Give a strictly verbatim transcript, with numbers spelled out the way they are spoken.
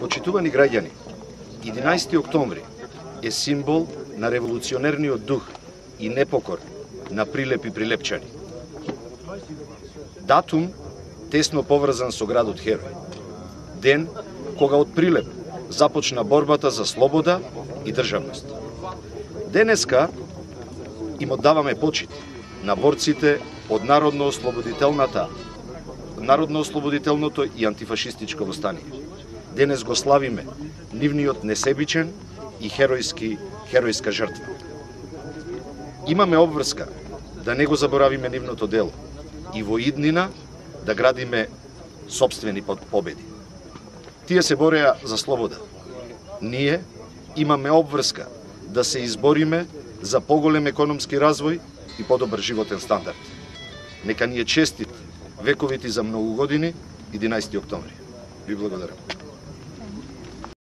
Почитувани граѓани, единаесети октомври е символ на револуционерниот дух и непокор на Прилеп и Прилепчани. Датум тесно поврзан со градот Херој. Ден кога од Прилеп започна борбата за слобода и државност. Денеска им оддаваме почит на борците од народно-ослободителната, народно-ослободителното и антифашистичко востание. Денес го славиме нивниот несебичен и херојски, херојска жртва. Имаме обврска да не го заборавиме нивното дело и во иднина да градиме сопствени победи. Тие се бореа за слобода. Ние имаме обврска да се избориме за поголем економски развој и подобар животен стандард. Нека ни е честит вековити за многу години единаесети октомври. Ви благодарам.